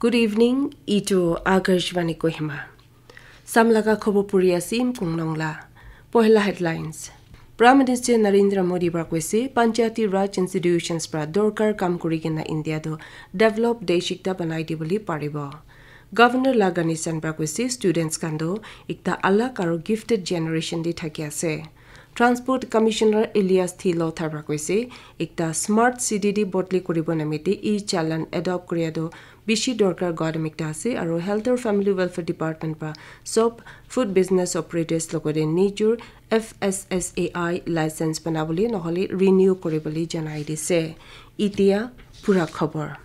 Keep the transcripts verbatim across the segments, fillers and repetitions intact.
Good evening, itu Akashvani Kohima. Samlaga khobor puri asim kunglong la. Pohela headlines. Prime Minister Narendra Modi pra koise, Panchayati Raj institutions pra dorkar kam kuri kena India do develop desh ekta banai dibole paribo. Governor Lagani San pra koise, students khan do ekta alag aro gifted generation de thaki ase. Transport Commissioner Elias Thilo Thar pra koise, ekta smart city de bodli kuribo namite e-challan adopt kuria do bishi dorkar gadam ekta ase, aro Health or Family Welfare Department pra sob food business operators logode nijor F S S A I license banabole nohole renew kuribole janai dise. Itia pura khobor.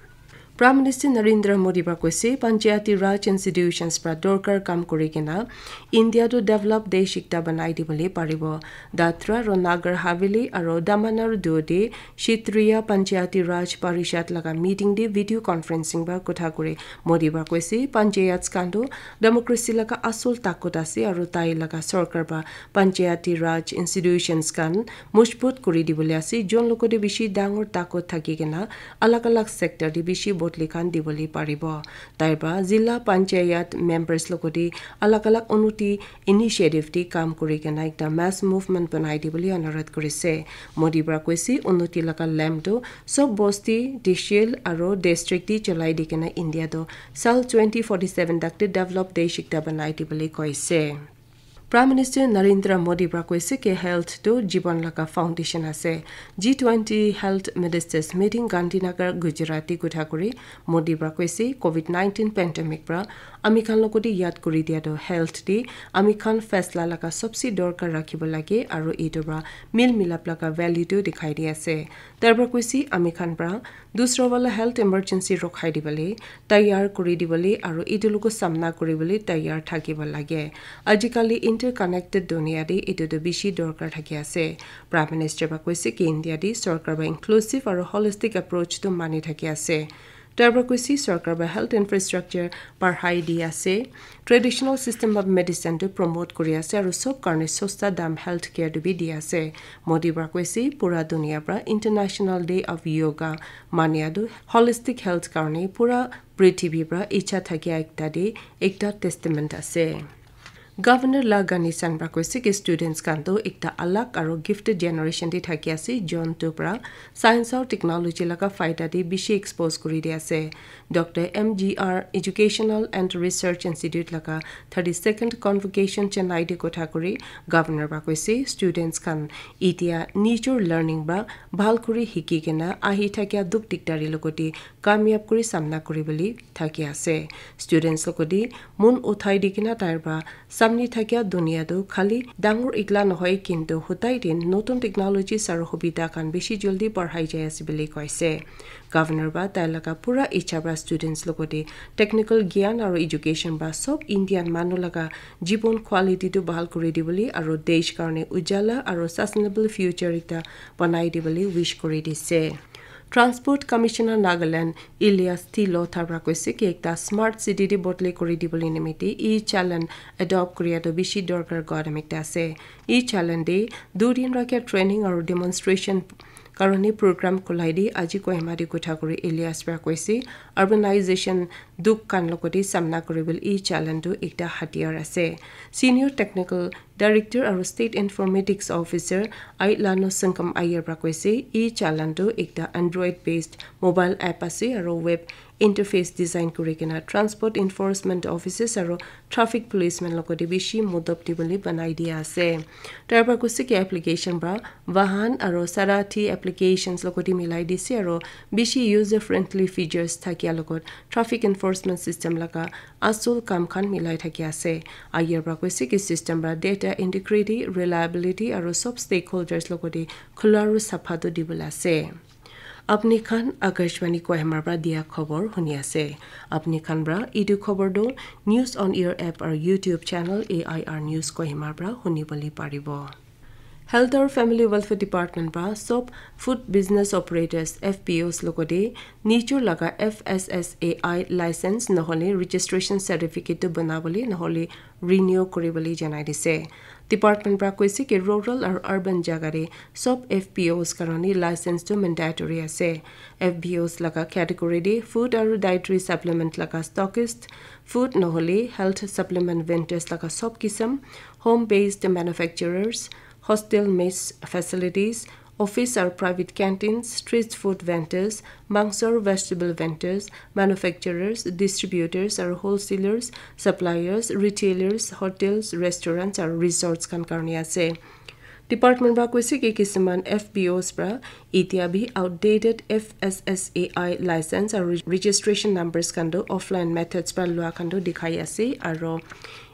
Prime Minister Narendra Modi pra koise, Panchayati Raj institutions pra dorkar kam kuri kena India to develop desh ekta banai dibole paribo. Dadra aro Nagar Haveli aro Daman aro Diu de Kshetriya Panchayati Raj Parishad laga meeting de video conferencing pra kotha kuri Modi pra koise, panchayats khan to democracy laga asul takot ase aro tai laga sorkar pra Panchayati Raj institutions khan mojbut kuri dibole ase, jon logode bishi dangor takot thaki kena alag alag sector de bishi bodli khan dibole paribo. Tai pra zila panchayat members logode alag alag unnoti initiative de kam kuri kena ekta mass movement banai dibole anurodh kurise. Modi pra koise, unnoti laga lamp to sob bosti, tehsil aro district de cholai di kena India to sal twenty forty-seven tak de develop desh ekta banai dibole koise. Prime Minister Narendra Modi pra koise ke health to jibon laga foundation ase. G twenty Health Ministers Meeting Gandhinagar, Gujarat de kotha kuri Modi pra koise, covid nineteen pandemic pra ami khan logode yad kuri dia to health de ami khan faisla laga sobse dorkar rakhibo lage aro etu pra mil milap laga value to dikhai di ase. Tar pra koise ami khan pra dusra wala health emergency rokhai dibole, tayar kuri dibole aro etu logo samna kuribole tayar thakibo lage. Ajikali interconnected dunia de etu to bishi dorkar thaki ase. Prime Minister pra koise ki India de sorkar pra inclusive aro holistic approach to mani thaki ase. Tar pra koise sorkar pra health infrastructure barhai di ase, traditional system of medicine to promote kuri ase aro sob karne sosta dam health care to bi di ase. Modi pra koise pura dunia pra International Day of Yoga mania tu holistic health karne pura prithibi pra icha thakia ekta de ekta testament ase. Governor Lagani San pra koise ki students khan to ekta alag aro gifted generation de thaki ase, jon to pra science aru technology laga faida de bishi expose kuri di ase. Doctor M G R Educational and Research Institute laga thirty-second convocation Chennai de kotha kuri governor pra koise students khan itia nijor learning pra bhal kuri hiki kena ahi thakia dukh dikdari logode kamyab kuri samna kuribole thaki ase. Students logode mon uthai di kena tai pra samne thakia dunia tu khali dangor ekla nohoi, kintu hutai din notun technologies aru hubidha khan bishi jaldi barhai jai ase bole koise. Governor pra tai laga pura icha pra students logode technical gyan aru education pra sob Indian manu laga jibon quality tu bahal kuri dibole aru desh karne ujala aru sustainable future ekta banai dibole wish kuri dise. Transport Commissioner Nagaland Elias Thilo Thar pra koise ki ekta smart city de bodli kuri dibole nimite e-challan adopt kuria to bishi dorkar gadam ekta ase. E-challan de dui din rakhia training aru demonstration karone program khulai de aji Kohima de kotha kuri Elias pra koise urbanization dukh khan logode samna kuribole e-challan tu ekta hatiyar ase. Senior Technical Director aru State Informatics Officer Ai Lano Sangam Ayer pra koise, e-challan tu ekta Android based mobile app ase aru web interface design kuri kena transport enforcement officers aru traffic policemen logode bishi modop dibole banai dia ase. Tar pra koise ki application pra vahan aru sarathi applications logode milai dise aru bishi user friendly features thakia logot traffic enforcement system laga asul kam khan milai thaki ase. Ayer pra koise ki system pra data integrity, reliability aru sob stakeholders logode khula aru sapha tu dibole ase. Apni khan Akashvani Kohima pra dia khobor huni ase. Apni khan pra etu khobor tu News on Air app aru YouTube channel A I R News Kohima pra huni bole paribo. Health aru Family Welfare Department pra sob food business operators, F P Os logode nijor laga F S S A I license nohole registration certificate tu banabole nohole renew kuribole janai dise. Department pra koise ki rural aru urban jaga te sob F P Os karone license tu mandatory ase. F P Os laga category te food aru dietary supplement laga stockist, food nohole health supplement vendors laga sob kisam, home based manufacturers, hostel mess facilities, office or private canteens, street food vendors, mangso or vegetable vendors, manufacturers, distributors or wholesalers, suppliers, retailers, hotels, restaurants or resorts khan karone ase. Department pra koise ki kisiman F P Os pra itia bi outdated F S S A I license aru registration numbers khan tu offline methods pra lua khan tu dikhai ase aru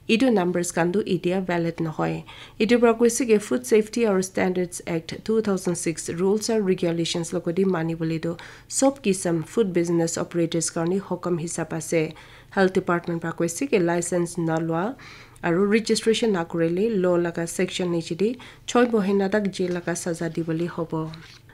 etu numbers khan tu itia valid nohoi. Etu pra koise ki Food Safety aru Standards Act two thousand six rules aru regulations logoti mani bole tu sob kisam food business operators karone hukam hisab ase. Health Department pra koise ki license na lua aru registration na korile law laga section niche te choi mohina tak jail laga saza dibole hobo.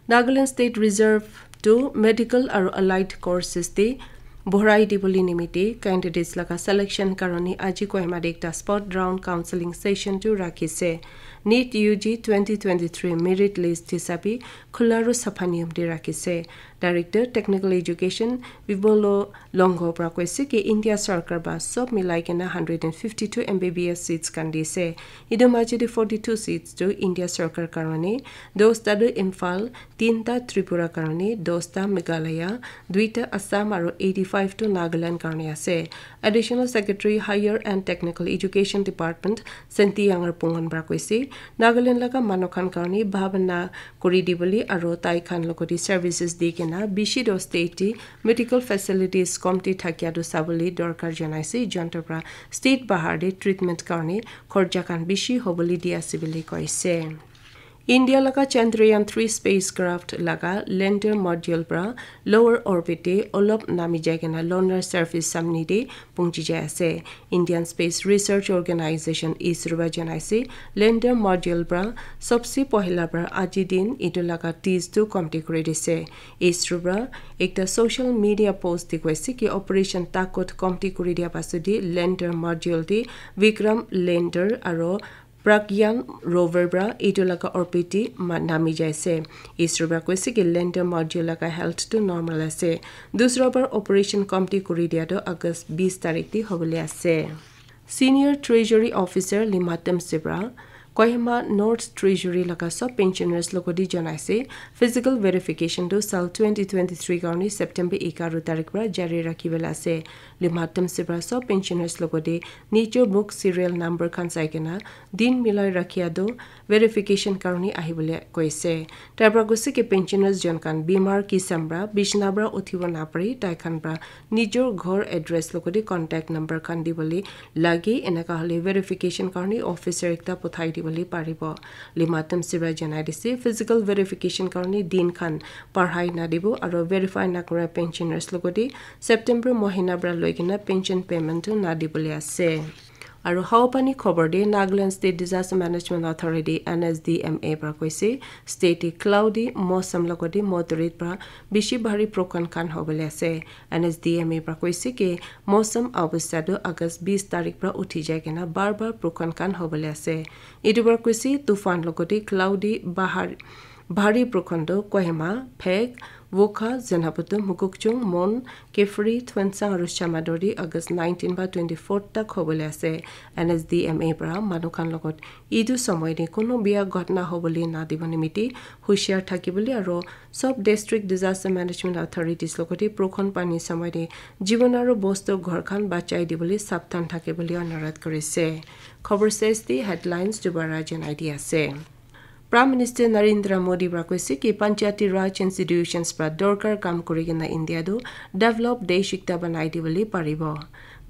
Nagaland State Reserve tu medical aru allied courses te borai dibole nimite candidates laga selection karone aji Kohima te ekta spot round counseling session tu rakhise. NEET U G twenty twenty-three merit list hisabe khula aru sapha niyam te rakhise. Director Technical Education Vibolo Longho pra koise ki India sarkar ba sob milai kena hundred and fifty-two M B B S seats khan dise. Etu maji te forty-two seats tu India sarkar karone, dosta tu Imphal, tinta Tripura karone, dosta Meghalaya, duita Assam aru eighty-five tu Nagaland karone ase. Additional Secretary Higher and Technical Education Department Senti Yangar Pungon pra koise, Nagaland laga manu khan karone bhabana kuri dibole aru tai khan logoti services di kena bishi do state te medical facilities komti thakia tu sabole dorkar janaise, jonto pra state bahar te treatment karone khorcha khan bishi hobole di ase bole koise. India laga Chandrayaan three spacecraft laga lander module pra lower orbit te olop nami jai kena lunar surface samni te pungchi jai ase. Indian Space Research Organization, ISRO, ba janaise, lander module pra sobse pohila pra aji din etu laga tease tu komti kuri dise. ISRO pra ekta social media post te koise ki operation takot komti kuri dia pasudi lander module te Vikram lander aro Pragyan rover pra etu laga orbit te ma-, nami jaise. ISRO pra koise ki lander module laga health tu normal ase. Dusra bar operation komti kuri dia tu August bis tarik te hobole ase. Senior Treasury Officer Limatem Sibra, Kohima North Treasury laga sub pensioners logoti janaise, physical verification tu sal twenty twenty-three karone September egaroh tarik pra jari rakhibole ase. Limatem Sibra sub pensioners logoti nijor book serial number khan sai kena din milai rakhia tu verification karone ahibole koise. Tai pra koise ki pensioners jon khan bimar kisam pra bishna pra uthibo napare, tai khan pra nijor ghor address logoti contact number khan dibole lage, eneka hole verification karone officer ekta pothai dibole paribo. Limatem Sibra janai dise, physical verification karone din khan parhai nadibo aro verify nakura pensioners logoti September mohina pra loi kena pension payment tu nadibole ase. Aru Hawapani khobor te Nagaland State Disaster Management Authority, N S D M A, pra koise state te cloudy mosam logoti moderate pra bishi bhari bhorkon khan hobole ase. N S D M A pra koise ki mosam obostha tu August bis tarik pra uthi jai kena bar bar bhorkon khan hobole ase. Etu pra koise tufan logoti cloudy bahar bhari bhorkon tu Kohima, Phek, Wokha, Zunheboto, Mokokchung, Mon, Kiphire, Tuensang aru Shamator te August nineteen pra twenty-four tak hobole ase. N S D M A pra manu khan logot etu somoy te kunu bia ghotna hobole nadibo nimite hushiar thakibole aru sub district disaster management authorities logoti bhorkon pani somoy te jibon aru bostu ghor khan bachai dibole sabdhan thakibole anurodh korise. Khobor ses te headlines dubara janai di ase. Prime Minister Narendra Modi pra koise ki Panchayati Raj institutions pra dorkar kam kuri kena India tu develop desh ekta banai dibole paribo.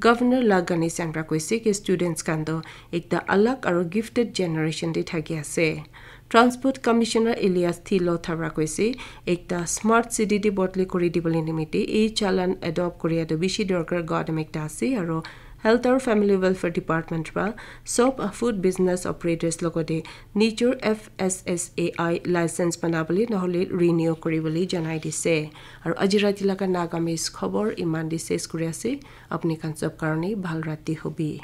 Governor La Ganesan pra koise ki students khan tu ekta alag aru gifted generation te thaki ase. Transport Commissioner Elias Thilotha pra koise ekta smart city te bodli kuri dibole nimite e-challan adopt kuria tu bishi dorkar gadam ekta ase aru Health aru Family Welfare Department pra sob food business operators logoti nijor F S S A I license banabole nohole renew kuribole janai dise. Aru aji rati laga Nagamese khobor iman te ses kuri ase. Apni khan sob karone bhal rati hobi.